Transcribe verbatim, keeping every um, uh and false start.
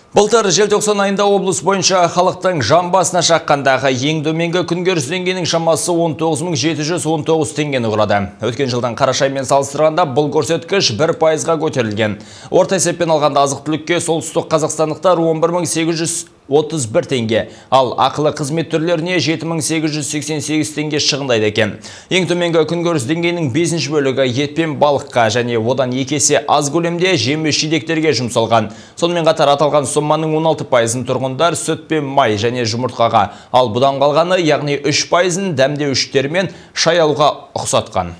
Былтыр желтоқсан айында облыс бойынша халықтың жан басына шаққандағы ең төменгі күнкөріс деңгейінің шамасы он тоғыз мың жеті жүз он тоғыз теңгені құрады. Өткен жылдан қараша аймен салыстырғанда бұл көрсеткіш бір пайызға көтерілген. Орта есеппен алғанда азық-түлікке солтүстік қазақстандықтар он бір мың сегіз жүз отыз бір теңге, ал ақылы қызмет түрлеріне жеті мың сегіз жүз сексен сегіз теңге шығындайды екен. Ең төменгі күнкөріс деңгейінің бесінші бөлігі ет пен балыққа және одан екі есе аз көлемде жеміс-жидектерге жұмсалған. Сонымен қатар аталған соманың он алты пайызын тұрғындар сүт пен май және жұмыртқаға, ал бұдан қалғаны, яғни үш пайызын дәмдеуіштер мен шай алуға ұқсатқан.